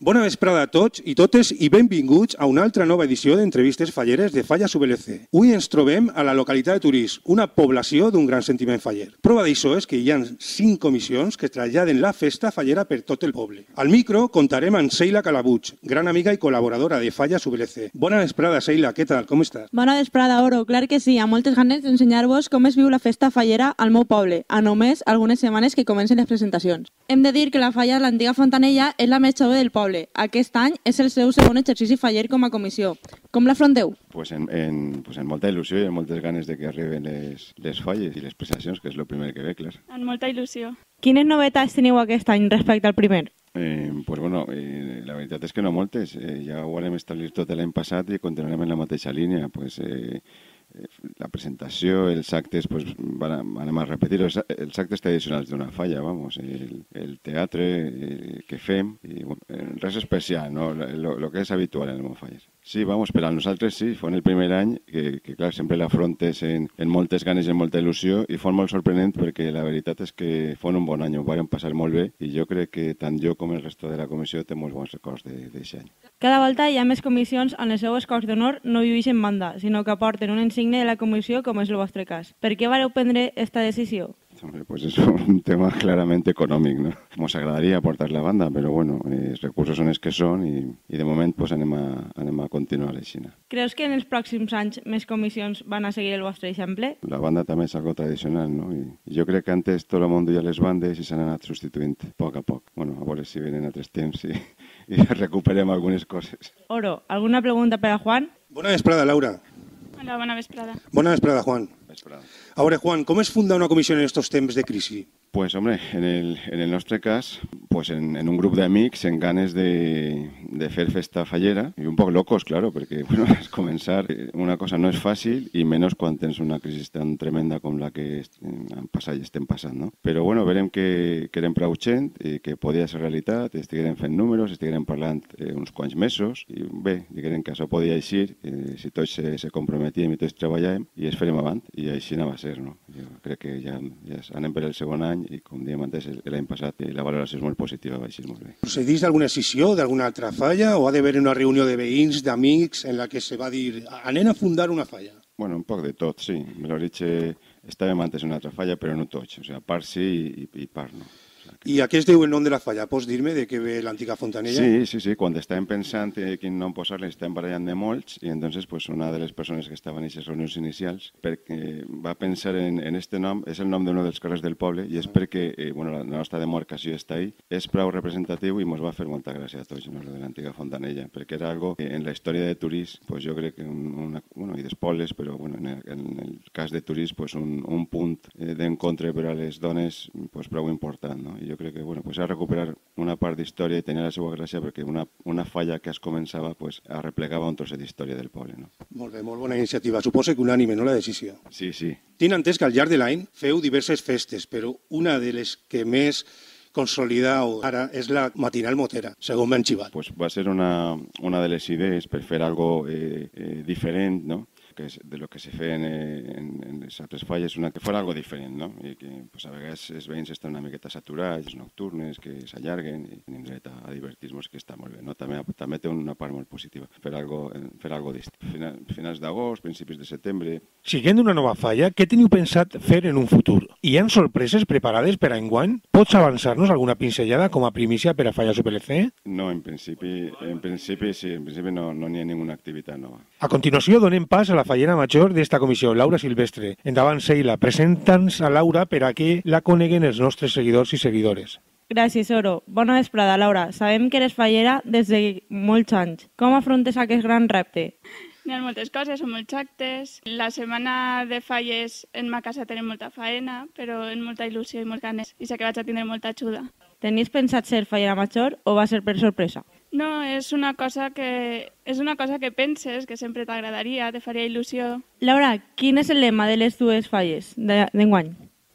Bona vesprada a tots i totes i benvinguts a una altra nova edició d'entrevistes falleres de Falles UBLC. Avui ens trobem a la localitat de Turís, una població d'un gran sentiment faller. Prova d'això és que hi ha 5 comissions que traslladen la festa fallera per tot el poble. Al micro contarem amb Sheila Calabuig, gran amiga i col·laboradora de Falles UBLC. Bona vesprada, Sheila, què tal? Com estàs? Bona vesprada, Oro. Clar que sí, amb moltes ganes d'ensenyar-vos com es viu la festa fallera al meu poble, a només algunes setmanes que comencen les presentacions. Hem de dir que la falla de l'antiga Fontanella és la més jove del poble. Aquest any és el seu segon exercici faller com a comissió. Com l'afronteu? Pues en molta il·lusió i amb moltes ganes de que arriben les falles i les prestacions, que és el primer que ve, clar. Amb molta il·lusió. Quines novetats teniu aquest any respecte al primer? La veritat és que no moltes. Ja ho vam establir tot l'any passat i continuarem en la mateixa línia. La presentació, els actes, anem a repetir els actes tradicionals d'una falla, el teatre que fem, i res especial, no? Lo que és habitual en el món faller. Sí, per a nosaltres sí, fon el primer any, que clar, sempre l'afrontes en moltes ganes i en molta il·lusió, i fon molt sorprenent perquè la veritat és que fon un bon any, ho vam passar molt bé, i jo crec que tant jo com el resto de la comissió té molts bons records d'aquest any. Cada volta hi ha més comissions on els seus escorts d'honor no llueixen banda, sinó que aporten un insigne de la comissió, com és el vostre cas. Per què vareu prendre aquesta decisió? És un tema clarament econòmic, no? Ens agradaria aportar la banda, però els recursos són els que són i de moment anem a continuar així. Creus que en els pròxims anys més comissions van a seguir el vostre exemple? La banda també és algo tradicional, no? I jo crec que antes tot el món duia les bandes i s'han anat substituint a poc a poc. A veure si venen altres temps i recuperem algunes coses. Oro, ¿alguna pregunta per a Juan? Bona vesprada, Laura. Hola, bona vesprada. Bona vesprada, Juan. Vesprada. A veure, Juan, com es funda una comissió en aquests temps de crisi? En el nostre cas, en un grup d'amics en ganes de fer festa fallera i un poc locos, claro, perquè és començar una cosa no és fàcil i menys quan tens una crisi tan tremenda com la que han passat i estem passant, no? Però verem que érem prou gent i que podia ser realitat, estiguérem fent números, estiguérem parlant uns quants mesos i bé, diguem que això podia eixir si tots se comprometíem i tots treballàvem i es farem avant i així anava a ser, no? Jo crec que ja anem per el segon any i com dèiem antes l'any passat la valoració és molt positiva, va així molt bé. Procedís d'alguna decisió, d'alguna altra falla o ha d'haver una reunió de veïns, d'amics en la que se va dir anem a fundar una falla? Un poc de tot, sí. L'origen estàvem antes en una altra falla però no tots, part sí i part no. I a què es deu el nom de la falla? Pots dir-me de què ve l'antiga Fontanella? Sí. Quan estàvem pensant quin nom posar-li, estàvem barallant de molts i entonces una de les persones que estaven en aquestes reunions inicials va pensar en este nom, és el nom d'un dels carrers del poble i és perquè la nostra demarcació està ahí, és prou representatiu i ens va fer molta gràcia a tots, de l'antiga Fontanella, perquè era algo que en la història de Turís, jo crec que i dels pobles, però en el cas de Turís, un punt d'encontre per a les dones prou important, no? I jo crec que a recuperar una part d'història i tenia la seva gràcia perquè una falla que es començava arreplegava un trosset d'història del poble. No? Molt bé, molt bona iniciativa. Suposo que unànime, no, la decisió? Sí. Tinc entès que al llarg de l'any feu diverses festes, però una de les que més consolidau ara és la matinal motera, segons m'han xivat. Va ser una de les idees per fer algo diferent, no? Que és de lo que se feien en les altres falles, que fos algo diferent, no? I que a vegades els veïns estan una miqueta saturats, les nocturnes que s'allarguen i tenim dret a divertir-nos, que està molt bé, no? També té una part molt positiva, fer algo distinct. Finals d'agost, principis de setembre. Siguent una nova falla, què teniu pensat fer en un futur? Hi ha sorpreses preparades per a enguany? Pots avançar-nos alguna pinzellada com a primícia per a Falles UBLC? No, en principi sí, en principi no n'hi ha ninguna activitat nova. A continuació donem pas a la fallera major d'esta comissió, Laura Silvestre. Endavant, Sheila, presenta'ns a Laura per a que la coneguen els nostres seguidors i seguidores. Gràcies, Oro. Bona vesprada, Laura. Sabem que eres fallera des de molts anys. Com afrontes aquest gran repte? Hi ha moltes coses, són molts actes. La setmana de falles en ma casa tenim molta faena, però amb molta il·lusió i moltes ganes. I sé que vaig a tindre molta ajuda. Tenies pensat ser fallera major o va ser per sorpresa? No, és una cosa que penses, que sempre t'agradaria, te faria il·lusió. Laura, quin és el lema de les dues falles d'enguany?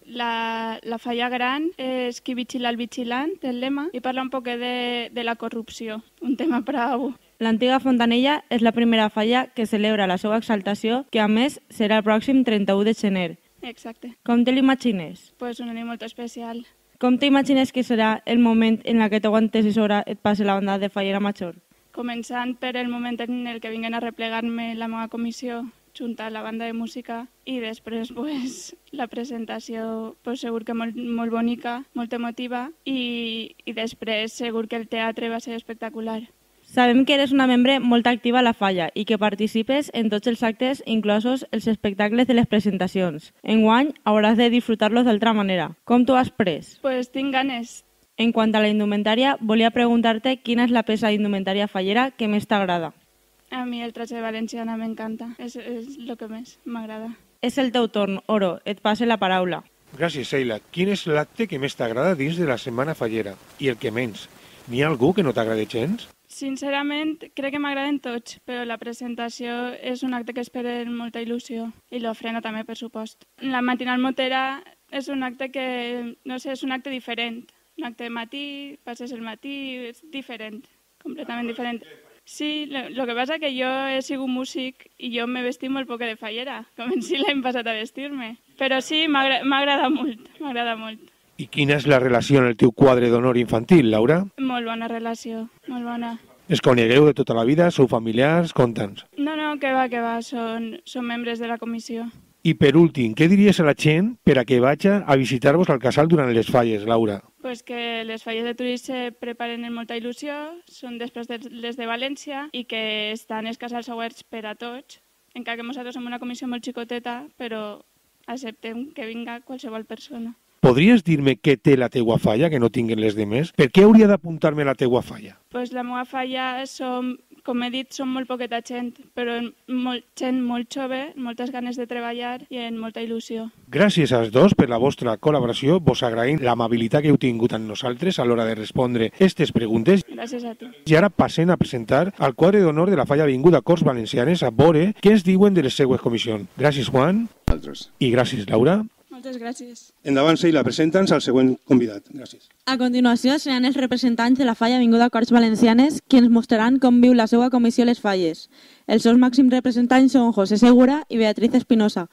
La falla gran és qui vigila el vigilant, el lema, i parla un poc de la corrupció, un tema prou. L'antiga Fontanella és la primera falla que celebra la seva exaltació, que a més serà el pròxim 31 de gener. Exacte. Com te l'imagines? Una nit molt especial. Com t'imagines que serà el moment en el que teva antecessora et passi la banda de fallera major? Començant per el moment en el que vinguen a replegar-me la meva comissió junt a la banda de música i després pues, la presentació pues, segur que molt bonica, molt emotiva i després segur que el teatre va ser espectacular. Sabem que eres una membre molt activa a la Falla i que participes en tots els actes, inclosos els espectacles de les presentacions. Enguany hauràs de disfrutar-los d'altra manera. Com t'ho has pres? Pues tinc ganes. En quant a la indumentària, volia preguntar-te quina és la peça d'indumentària fallera que més t'agrada. A mi el traje valenciana m'encanta, és el que més m'agrada. És el teu torn, Oro, et passe la paraula. Gràcies, Sheila. Quin és l'acte que més t'agrada dins de la setmana fallera? I el que menys? N'hi ha algú que no t'agrada gens? Sincerament, crec que m'agraden tots, però la presentació és un acte que espero amb molta il·lusió i l'ofrena també, per supost. La matinal motera és un acte que, no sé, és un acte diferent. Un acte de matí, passes el matí, és diferent, completament diferent. Sí, el que passa que jo he sigut músic i jo m'he vestit molt poc de fallera. Comenci l'any passat a vestir-me. Però sí, m'agrada molt, m'agrada molt. I quina és la relació en el teu quadre d'honor infantil, Laura? Molt bona relació, molt bona. Es conegueu de tota la vida? Sou familiars? Conta'ns. No, que va, són membres de la comissió. I per últim, què diries a la gent per a que vagi a visitar-vos al casal durant les falles, Laura? Pues que les falles de Turís se preparen amb molta il·lusió, són després de les de València i que estan els casals oberts per a tots, encara que nosaltres som una comissió molt xicoteta, però acceptem que vinga qualsevol persona. Podries dir-me què té la teua falla que no tinguen les demés? Per què hauria d'apuntar-me la teua falla? Pues la meva falla som, com he dit, som molt poqueta gent, però gent molt jove, moltes ganes de treballar i amb molta il·lusió. Gràcies als dos per la vostra col·laboració. Vos agraïm l'amabilitat que heu tingut amb nosaltres a l'hora de respondre aquestes preguntes. Gràcies a tu. I ara passem a presentar al quadre d'honor de la falla Avinguda Corts Valencianes a veure què ens diuen de les seues comissions. Gràcies, Juan. Altres. I gràcies, Laura. Moltes gràcies. Endavant, Sheila, presenta'ns al següent convidat. Gràcies. A continuació seran els representants de la Falla Avinguda Corts Valencianes qui ens mostraran com viu la seva comissió les falles. Els seus màxims representants són José Segura i Beatriz Espinosa.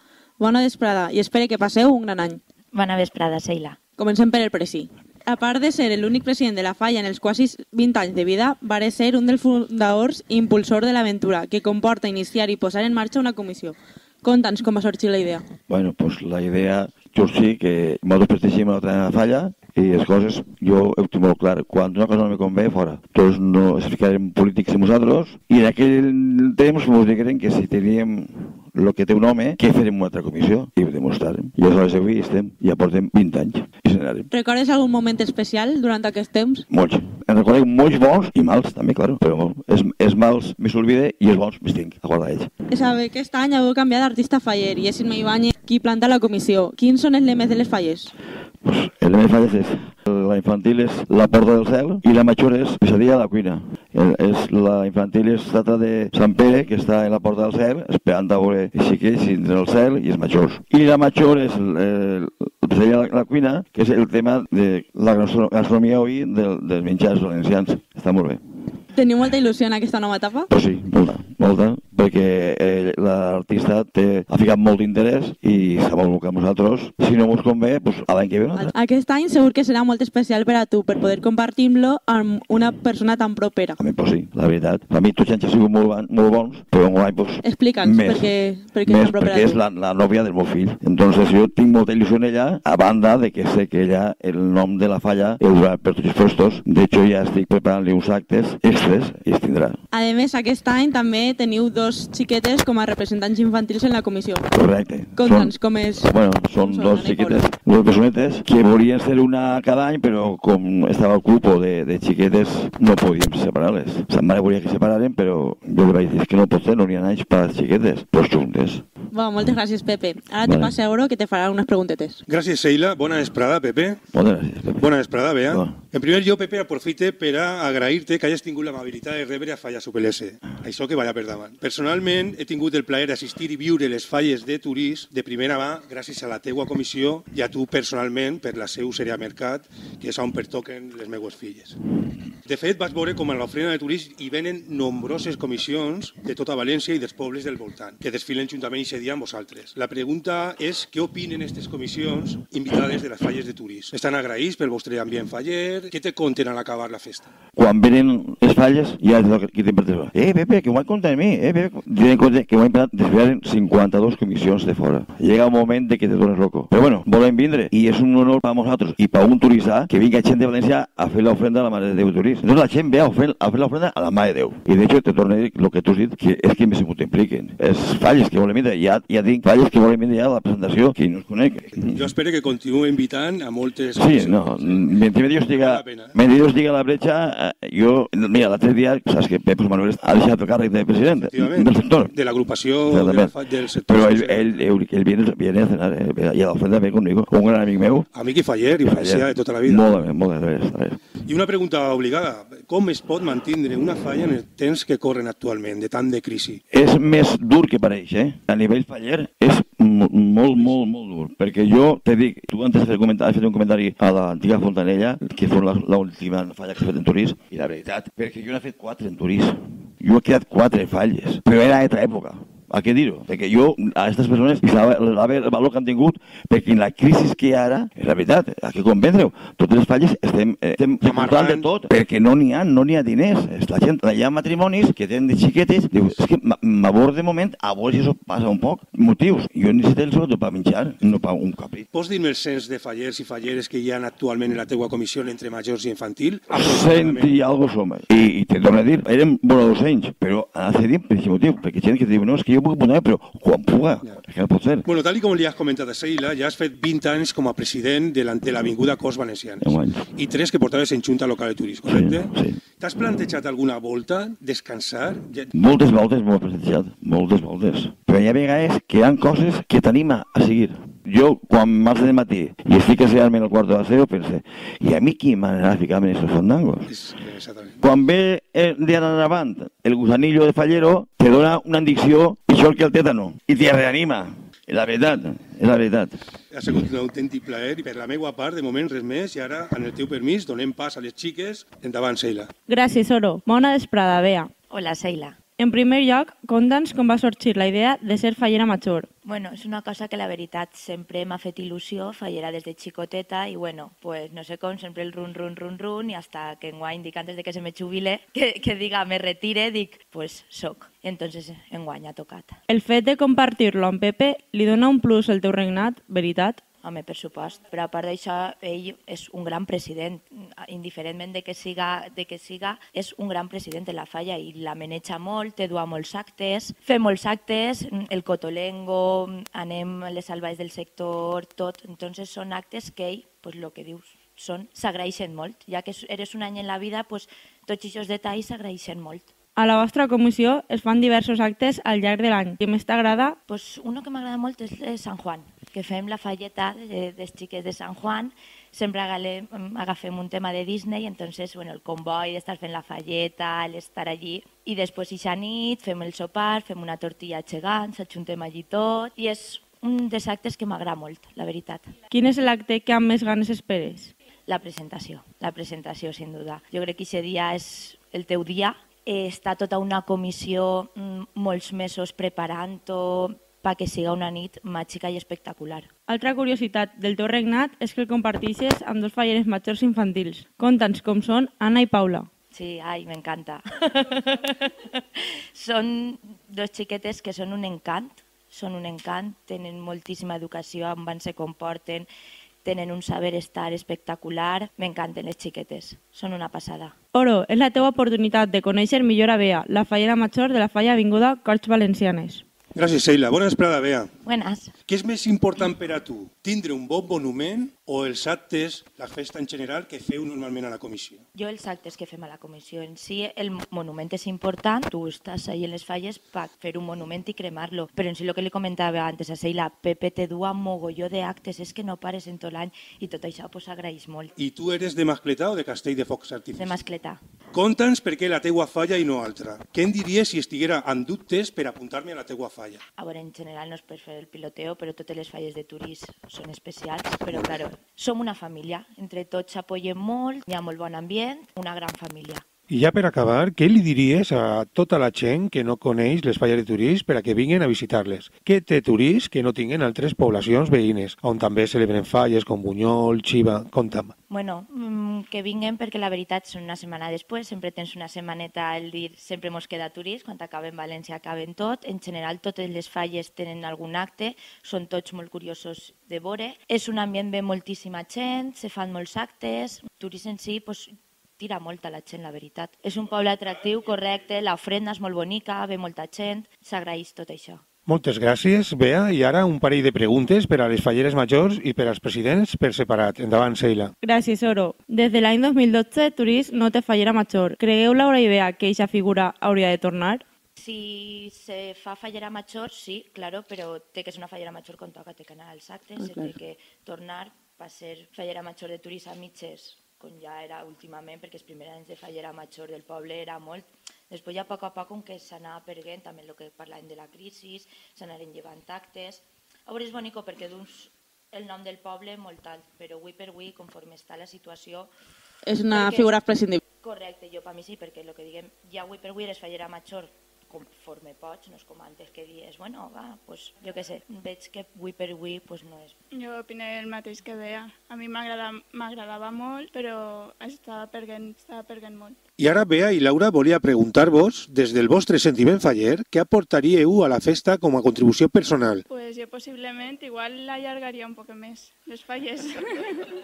Bona vesprada i espero que passeu un gran any. Bona vesprada, Sheila. Comencem per el presi. A part de ser l'únic president de la Falla en els quasi 20 anys de vida, va ser un dels fundadors i impulsor de l'aventura que comporta iniciar i posar en marxa una comissió. Conta'ns com va sorgir la idea. Bueno, pues la idea, jo sí que nosaltres prestigiem a la falla i les coses, jo ho tinc molt clar, quan una cosa no me convé, fora. Tots no es ficarem polítics amb nosaltres i en aquell temps ens digueren que si teníem el que té un home, què farem una altra comissió? I ho demostrarem. I aleshores avui estem, ja portem 20 anys i se n'anarem. Recordes algun moment especial durant aquest temps? Molts. En reconec molts bons i mals també, claro. Però els mals me s'olvide i els bons m'estic a guardar ells. Sabe que aquest any heu canviat d'artista faller i és Isma Ibáñez qui planta la comissió. Quins són els lemes de les falles? Pues el lema de falles és la infantil és la porta del cel i la major és pesadilla a la cuina. La infantil es trata de Sant Pere, que està en la porta del cel, esperant a veure els xiquets entre el cel i els majors. I la major és la pesadilla a la cuina, que és el tema de la gastronomia avui dels menjars valencians. Està molt bé. Teniu molta il·lusió en aquesta nova etapa? Pues sí, molta, perquè l'artista ha ficat molt d'interès i s'ha volgut amb nosaltres. Si no ens convé, pues a l'any que ve. Aquest any segur que serà molt especial per a tu, per poder compartir-lo amb una persona tan propera. A mi, pues sí, la veritat. A mi tots els anys han sigut molt bons, però un any, pues, explica'ns més, per què més, és tan propera perquè a tu. és la nòvia del meu fill. Entonces jo tinc molta il·lusió en ella, a banda de que sé que ella, el nom de la falla, el durà per tots els puestos. De hecho, ja estic preparant-li uns actes extras i es tindrà. A més, aquest any també teniu dos xiquetes com a representants infantils en la comissió. Correcte. Conta'ns com és. Bueno, són dos xiquetes, dues personetes, que volien ser una cada any, però com estava el grupo de xiquetes, no podíem separar-les. Sa mare volia que separaren, però jo li vaig dir que no pot ser, no n'hi ha anys per xiquetes, però juntes. Bueno, moltes gràcies, Pepe. Ara te passo a Oro, que te farà unes preguntetes. Gràcies, Sheila. Bona vesprada, Pepe. Moltes gràcies, Pepe. Bona vesprada, Bea. En primer lloc, Pepe, aprofite per a agrair-te que hagis tingut l'amabilitat de rebre a Falla Super-S. Això que vaya per davant. Personalment, he tingut el plaer d'assistir i viure les falles de Turís de primera mà gràcies a la teua comissió i a tu personalment per la seu Seria Mercat, que és on pertoquen les meues filles. De fet, vas veure com a l'ofrena de Turís hi venen nombroses comissions de tota València i dels pobles del voltant, que desfilen juntament i dia amb vosaltres. La pregunta és què opinen aquestes comissions invitades de les falles de Turís. Estan agraïts pel vostre ambient faller? Què te conten al acabar la festa? Quan venen les falles, ja qui té per telèfon. Pepe, que ho han contat a mi. Pepe, tenen en compte que ho han empezat desviar 52 comissions de fora. Llega un moment de que te tornes loco. Però bueno, volem vindre i és un honor per a nosaltres i per a un turista que vinga gent de València a fer l'ofrenda a la Mare de Déu Turís. Entonces la gent ve a fer l'ofrenda a la Mare de Déu. I de hecho te torno a dir el que tu has dit, que és que se multipliquen. És falles que volem vindre, ja tinc falles que volem vindre ja a la presentació, que no es conec. Jo espero que continuï invitant a moltes... Sí, no, mentre Dios diga la brecha, yo, mira, l'altre dia, saps que Pep Manuel ha deixat el càrrec de president del sector. De l'agrupació del sector. Però él viene a cenar, y a la ofrenda ve conmigo, un gran amic meu. Amic i faller, i valencià de tota la vida. Molt de res. I una pregunta obligada, com es pot mantindre una falla en els temps que corren actualment, de tant de crisi? És més dur que pareix, A nivell faller és molt dur, perquè jo te dic, tu antes has fet un comentari a l'antiga Fontanella, que fos l'última falla que s'ha fet en Turís, i la veritat, perquè jo n'he fet 4 en Turís. Jo he quedat 4 falles, però era altra època. A què dir-ho? Perquè jo, a aquestes persones, el valor que han tingut, perquè en la crisi que hi ha ara, és la veritat, a què convendre-ho? Totes les falles estem amarrant de tot, perquè no n'hi ha diners. La gent, hi ha matrimonis que tenen de xiquetes, diu, és que m'aborda de moment, a veure si això passa un poc. Motius, jo necessito el sobretot per menjar, no per un caprit. Pots dir-me el cens de fallers i falleres que hi ha actualment en la teua comissió entre majors i infantil? 100 i algo som. I te torno a dir, érem vora 2 anys, però han cedit per aquest motiu, perquè gent que diu, no, és que jo puc apuntar, però quan puga, que no pot ser. Bueno, tal com li has comentat a Seila, ja has fet 20 anys com a president de l'Avinguda Cos Valencianes. I 3 que portaves en Junta Local de Turisme, correcte? Sí. T'has plantejat alguna volta descansar? Moltes voltes m'ho he plantejat, moltes voltes. Però hi ha vegades que hi ha coses que t'anima a seguir. Jo, quan m'has de matí i estic a segar-me en el quart de l'aseo, pense, i a mi qui m'anarà a ficar-me en aquests fandangos? Quan ve d'anar avant el gusanillo de fallero, te dona una indicció pitjor que el tétano i te reanima. És la veritat. Ha sigut un autèntic plaer i per la meva part, de moment res més, i ara, en el teu permís, donem pas a les xiques. Endavant, Seila. Gràcies, Oro. Bona vesprada, Bea. Hola, Seila. En primer lloc, conta'ns com va sorgir la idea de ser fallera major. Bueno, és una cosa que la veritat sempre m'ha fet il·lusió, fallera des de xicoteta, i bueno, pues no sé com, sempre el run, i hasta que enguany dic antes de que se me jubile, que diga me retire, dic, pues soc. Entonces enguany ha tocat. El fet de compartir-lo amb Pepe li dona un plus al teu regnat, veritat? Home, per supost. Però a part d'això, ell és un gran president. Indiferentment de que siga, és un gran president de la falla i la maneja molt, té dur a molts actes, fer molts actes, el cotolengo, anem a les salvades del sector, tot. Entonces són actes que ell, pues lo que dius, s'agraeixen molt. Ja que eres un any en la vida, pues tots aquests detalls s'agraeixen molt. A la vostra comissió es fan diversos actes al llarg de l'any. Què més t'agrada? Pues uno que m'agrada molt és Sant Juan, que fem la falleta dels xiques de Sant Juan. Sempre agafem un tema de Disney, entonces el comboi d'estar fent la falleta, l'estar allí. I després eixa nit fem el sopar, fem una tortilla gegant, s'ajuntem allí tot. I és un dels actes que m'agrada molt, la veritat. Quin és l'acte que amb més ganes esperes? La presentació, sin duda. Jo crec que aquest dia és el teu dia. Està tota una comissió molts mesos preparant-ho perquè siga una nit màgica i espectacular. Altra curiositat del teu regnat és que el comparteixes amb 2 falleres majors infantils. Conta'ns com són Anna i Paula. Sí, m'encanta. Són 2 xiquetes que són un encant, tenen moltíssima educació, amb on se comporten, tenen un saber estar espectacular. M'encanten les xiquetes, són una passada. Oro, és la teva oportunitat de conèixer millor a Bea, la fallera major de la falla Avinguda Corts Valencianes. Gràcies, Seila. Bona vesprada, Bea. Buenas. Què és més important per a tu? Tindre un bon monument o els actes, la festa en general, que feu normalment a la comissió? Jo els actes que fem a la comissió en si, el monument és important, tu estàs ahí en les falles per fer un monument i cremar-lo, però en si el que li comentava antes a Seila, Pepe te du a mogolló d'actes, és que no pares en tot l'any i tot això pues agraeix molt. I tu eres de Mascletà o de Castell de Focs Artificis? De Mascletà. Conta'ns per què la teua falla i no altra. Què em diries si estiguera en dubtes per apuntar-me a la teua falla? A veure, en general no és per fer el piloteo, però totes les falles de Turís són especials, però claro, som una família, entre tots s'apoyem molt, hi ha molt bon ambient, una gran família. I ja per acabar, què li diries a tota la gent que no coneix les falles de Turís per a que vinguin a visitar-les? Què té Turís que no tinguen altres poblacions veïnes, on també celebren falles com Bunyol, Xiva? Conta'm. Bueno, que vinguen perquè la veritat són una setmana després, sempre tens una setmaneta el dir sempre mos queda Turís, quan acabem València acaben tot, en general totes les falles tenen algun acte, són tots molt curiosos de veure, és un ambient ve moltíssima gent, se fan molts actes, Turís en si pues, tira molt a la gent, la veritat. És un poble atractiu, correcte, l'ofrenda és molt bonica, ve molta gent, s'agraeix tot això. Moltes gràcies, Bea. I ara un parell de preguntes per a les falleres majors i per als presidents per separat. Endavant, Seila. Gràcies, Oro. Des de l'any 2012, Turís no té fallera major. Cregueu, Laura i Bea, que aquesta figura hauria de tornar? Si se fa fallera major, sí, claro, però té que ser una fallera major quan toca, té que anar als actes, se té que tornar per ser fallera major de Turís a mitges, com ja era últimament, perquè els primers anys de fallera major del poble era molt. Després ja a poc a poc, com que s'anava perdent, també el que parlàvem de la crisi, s'anaren llevant actes. A veure, és bonic perquè doncs el nom del poble molt alt, però avui per avui, conforme està la situació... És una figura prescindible. Correcte, jo per mi sí, perquè el que diguem, ja avui per avui eres fallera major, conforme pots, no és com antes que dius, bueno, va, pues, jo què sé, veig que avui per avui pues, no és. Jo opino el mateix que Bea. A mi m'agradava molt, però estava perdent molt. I ara, Bea i Laura, volia preguntar-vos, des del vostre sentiment faller, què aportaríeu a la festa com a contribució personal? Pues jo possiblement igual l'allargaria un poc més, les falles.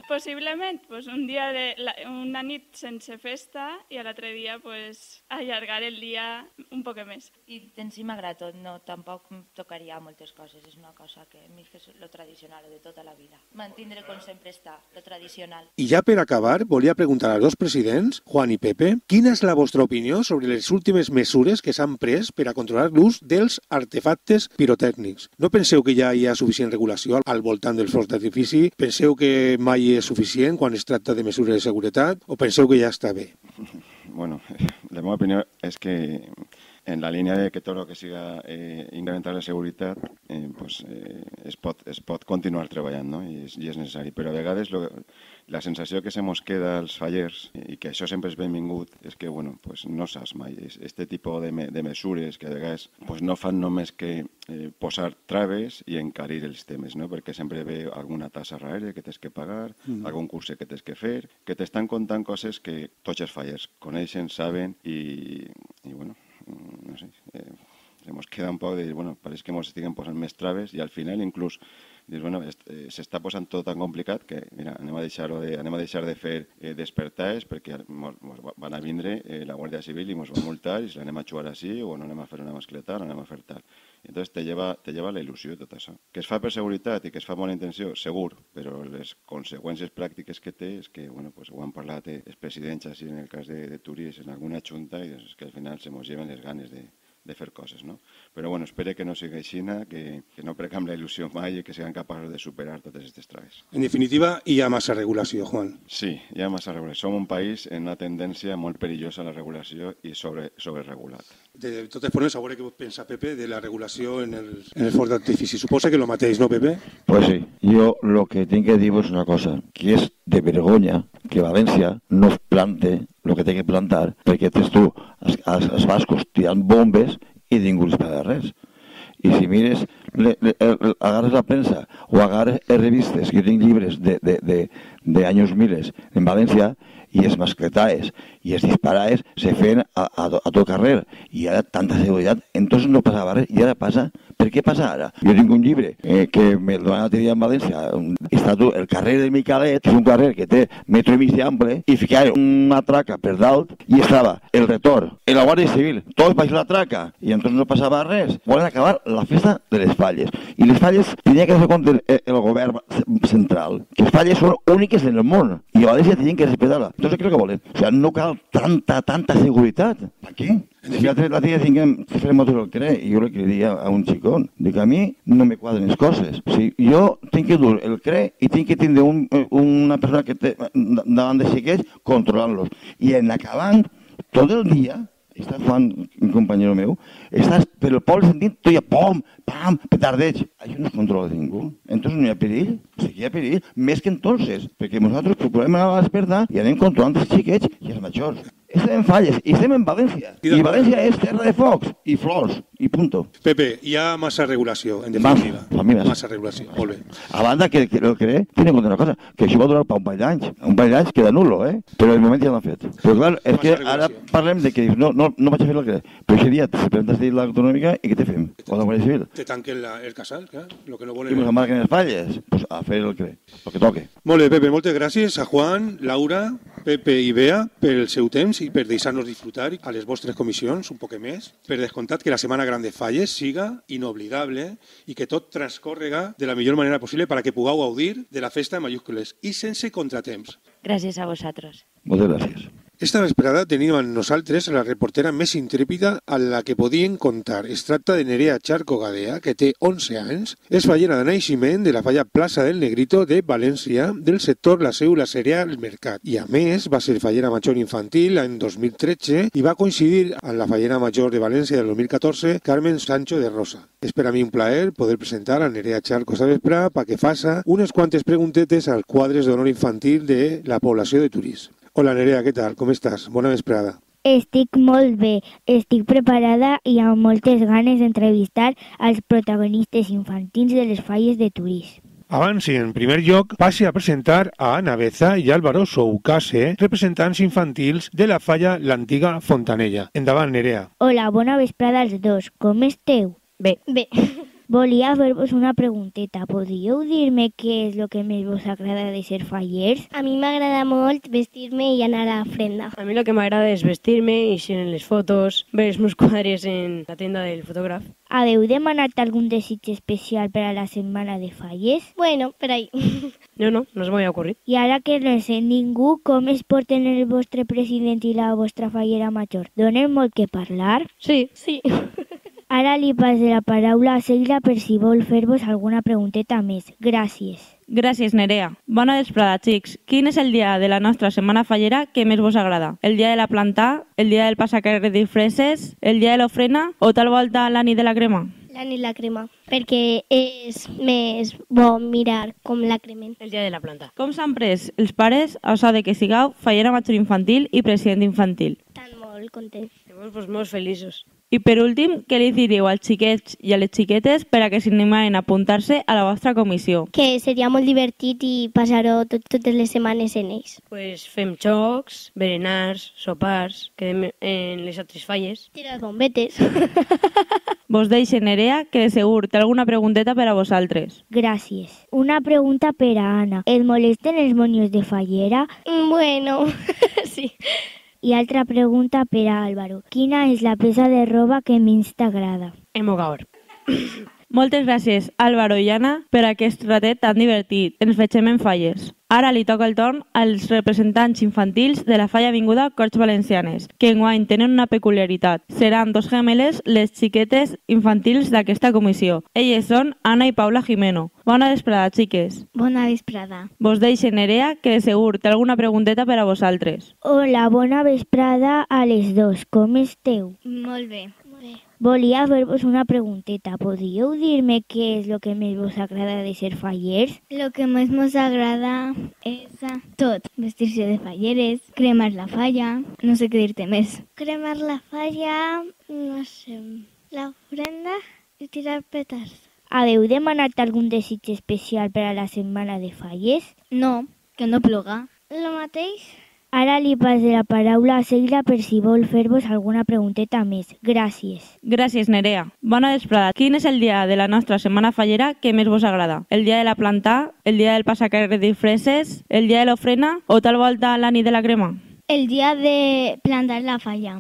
Possiblement, pues una nit sense festa i l'altre dia pues, allargar el dia un poc més. I en si m'agrada tot, no, tampoc tocaria moltes coses, és una cosa que a mi és lo tradicional, de tota la vida. Mantindre com sempre està, lo tradicional. I ja per acabar, volia preguntar als dos presidents, Juan i Pepe, quina és la vostra opinió sobre les últimes mesures que s'han pres per a controlar l'ús dels artefactes pirotècnics? No penseu que ja hi ha suficient regulació al voltant dels focs d'artifici? Penseu que mai és suficient quan es tracta de mesures de seguretat? O penseu que ja està bé? Bueno, la meva opinió és que en la línia de que tot el que siga incrementar la seguretat es pot continuar treballant, no? I és necessari. Però a vegades la sensació que se mos queda als fallers, i que això sempre és benvingut, és que bueno, pues no saps mai. Este tipus de mesures que a vegades pues no fan només que posar traves i encarir els temes, no? Perquè sempre ve alguna tassa darrere que tens que pagar, algun curs que tens que fer, que t'estan contant coses que tots els fallers coneixen, saben i bueno, no sé, se mos queda un poc de dir, bueno, pareix que mos estiguen posant més traves i al final inclús dius, bueno, s'està posant tot tan complicat que, mira, anem a deixar de fer despertars perquè van a vindre la Guàrdia Civil i ens va multar i si l'anem a jugar així o no anem a fer una mascleta o no anem a fer tal. I entonces te lleva la il·lusió tot això. Que es fa per seguretat i que es fa amb bona intenció, segur, però les conseqüències pràctiques que té és que, bueno, pues ho han parlat els presidents així en el cas de Turís en alguna junta i és que al final se mos lleven les ganes de fer coses, no? Però bueno, espero que no sigui així, que no perdem la il·lusió mai i que siguem capaços de superar totes aquestes traves. En definitiva, hi ha massa regulació, Juan. Sí, hi ha massa regulació. Som un país en una tendència molt perillosa a la regulació i sobreregulat. De totes formes, a veure què pensa Pepe de la regulació en el foc d'artifici. Suposa que el mateix, no, Pepe? Pues sí, jo lo que tinc que dir és una cosa, que és de vergonya que València no plante el que té que plantar, perquè tens tu els bascos tirant bombes i ningú els paga res. I si mires, agarres la premsa o agarres revistes, jo tinc llibres de anys miles en València, i els mascletaes i els disparaes se feien a tot carrer i ara tanta seguretat, entonces no passava res i ara passa Per què passa ara? Jo tinc un llibre que me el van tenir en València, està el carrer del Micalet, que és un carrer que té metro i mig d'ample, i ficava una traca per dalt i estava el retorn, la Guàrdia Civil, tots baix la traca, i entonces no passava res. Volen acabar la festa de les falles. I les falles tenia que fer compte el govern central, que les falles són úniques en el món, i a València tenien que respetar-la. Entonces, què és el que volen? O sea, no cal tanta seguretat. Per què? Si la tía tiene que hacer motor el y yo le diría a un chicón, de que a mí no me cuadren las cosas. Si yo tengo que dur el CRE y tengo que tener una persona que te daban de xiquets controlant-los. I en acabant tot el dia, està Juan, un compañero meu, estàs per el poble sentint tot ja pom, pam, petardeig. Això no es controla de ningú. Entonces no hi ha perill. Sí que hi ha perill, més que entonces, perquè nosaltres procurem anar a la despertar i anem controlant els xiquets i els majors. Estem en Falles i estem en València. I València és terra de focs i flors i punto. Pepe, hi ha massa regulació, en definitiva. Massa regulació, molt bé. A banda que el CRE tiene en compte una cosa, que això va durar per un parell d'anys. Un parell d'anys queda nulo, però de moment ja l'han fet. Però clar, és que ara parlem de que no vaig a fer el CRE, però aquest dia se presenta l'autonòmica i què te fem? O la Guàrdia Civil. Te tanquen el casal, clar. Lo que no volen... I nos amarquen les falles, pues a fer el CRE, el que toque. Molt bé, Pepe, moltes gràcies a Juan, Laura, Pepe i Bea pel seu temps i per deixar-nos disfrutar a les vostres comissions un poc més. Per descomptat que la Setmana Gran de Falles siga inoblidable i que tot transcórrega de la millor manera possible perquè pugueu gaudir de la festa en mayúscules i sense contratemps. Gràcies a vosaltres. Moltes gràcies. Esta vesprada tenim amb nosaltres la reportera més intrèpida a la que podien contar. Es tracta de Nerea Charco Gadea, que té 11 anys, és fallera de naixement de la falla Plaça del Negrito de València, del sector La Seu, la Cereal, el Mercat. I a més va ser fallera major infantil l'any 2013 i va coincidir amb la fallera major de València del 2014, Carmen Sancho de Rosa. És per a mi un plaer poder presentar a Nerea Charco esta vesprada perquè faça unes quantes preguntetes als quadres d'honor infantil de la població de Turís. Hola Nerea, què tal? Com estàs? Bona vesprada. Estic molt bé, estic preparada i amb moltes ganes d'entrevistar als protagonistes infantils de les falles de Turís. Abans i en primer lloc, passe a presentar a Ana Beza i Álvaro Soucase, representants infantils de la falla l'antiga Fontanella. Endavant, Nerea. Hola, bona vesprada als dos. Com esteu? Bé. Volia fer-vos una pregunteta. Podríeu dir-me què és el que més vos agrada de ser fallers? A mi m'agrada molt vestir-me i anar a la ofrenda. A mi el que m'agrada és vestir-me, eixir en les fotos, ver els meus quadres en la tenda del fotògraf. Haveu demanat algun desig especial per a la setmana de falles? Bueno, per ahí. No se m'havia ocorrit. I ara que no sé ningú, com es porten el vostre president i la vostra fallera major? Donen molt que parlar? Sí. Ara li passo la paraula a Sheila per si vol fer-vos alguna pregunteta més. Gràcies. Gràcies, Nerea. Bona vesprada, xics. Quin és el dia de la nostra setmana fallera que més vos agrada? El dia de la planta, el dia del passacarrer de disfresses, el dia de l'ofrena o tal volta la nit de la crema? La nit de la crema, perquè és més bo mirar com la cremen. El dia de la planta. Com s'han pres els pares a això de que sigueu fallera major infantil i president infantil? Estan molt contents. Llavors, molt feliços. I per últim, què li diríeu als xiquets i a les xiquetes per a que s'animen a apuntar-se a la vostra comissió? Que seria molt divertit i passar-ho totes les setmanes en ells. Pues fem jocs, berenars, sopars, quedem en les altres falles. Tirar bombetes. Vos deixe, Nerea, que de segur té alguna pregunteta per a vosaltres. Gràcies. Una pregunta per a Anna. Et molesten els monios de fallera? Bueno, sí. I altra pregunta per a Álvaro. Quina és la peça de roba que menys t'agrada? El mogador. Moltes gràcies, Álvaro i Anna, per aquest ratet tan divertit. Ens fetxem en falles. Ara li toca el torn als representants infantils de la falla avinguda Corts Valencianes, que enguany tenen una peculiaritat. Seran dos gemeles les xiquetes infantils d'aquesta comissió. Elles són Anna i Paula Jimeno. Bona vesprada, xiques. Bona vesprada. Vos deixe, Nerea, que de segur té alguna pregunteta per a vosaltres. Hola, bona vesprada a les dos. Com esteu? Molt bé. Volia fer-vos una pregunteta. Podríeu dir-me què és el que més vos agrada de ser fallers? Lo que més ens agrada és tot. Vestir-se de falleres, cremar la falla, no sé què dir-te més. Cremar la falla, no sé, l'ofrenda i tirar petards. Haveu demanat algun desig especial per a la setmana de falles? No, que no ploga. Lo mateix Ara li passo la paraula a Seila per si vol fer-vos alguna pregunteta més. Gràcies. Gràcies, Nerea. Bona vesprada. Quin és el dia de la nostra setmana fallera que més vos agrada? El dia de la planta? El dia del passacarrer de disfresses? El dia de l'ofrena? O tal volta la nit de la crema? El dia de plantar la falla.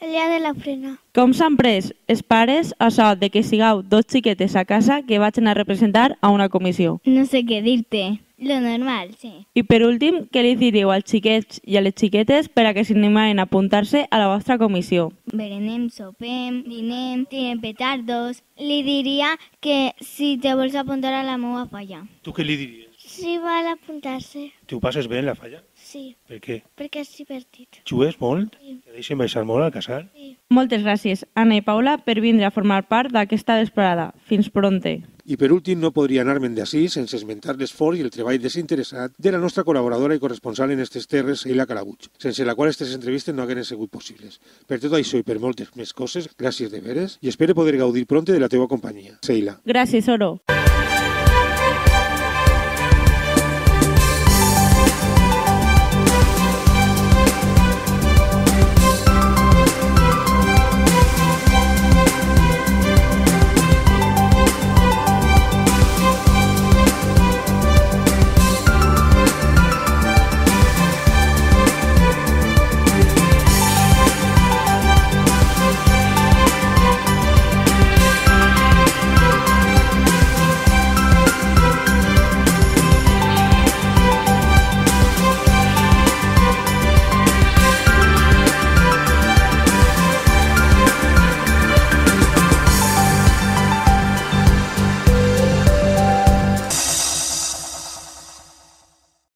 El dia de l'ofrena. Com s'han pres els pares això de que sigueu dos xiquetes a casa que vagin a representar a una comissió? No sé què dir-te. Lo normal, sí. I per últim, què li diríeu als xiquets i a les xiquetes per a que s'animaran a apuntar-se a la vostra comissió? Berenem, sopem, dinem, tirem petardos. Li diria que si te vols apuntar a la meva falla. Tu què li diries? Si vol apuntar-se. Tu passes bé en la falla? Sí. Per què? Perquè és divertit. Jugues molt? Sí. Te deixen baixar molt al casal? Sí. Moltes gràcies, Anna i Paula, per vindre a formar part d'aquesta vesprada. Fins pronte. I per últim, no podria anar-me'n d'ací sense esmentar l'esforç i el treball desinteressat de la nostra col·laboradora i corresponsal en aquestes terres, Seila Calabuig, sense la qual aquestes entrevistes no hagueren sigut possibles. Per tot això i per moltes més coses, gràcies de veres i espero poder gaudir pronte de la teva companyia. Seila. Gràcies, Oro.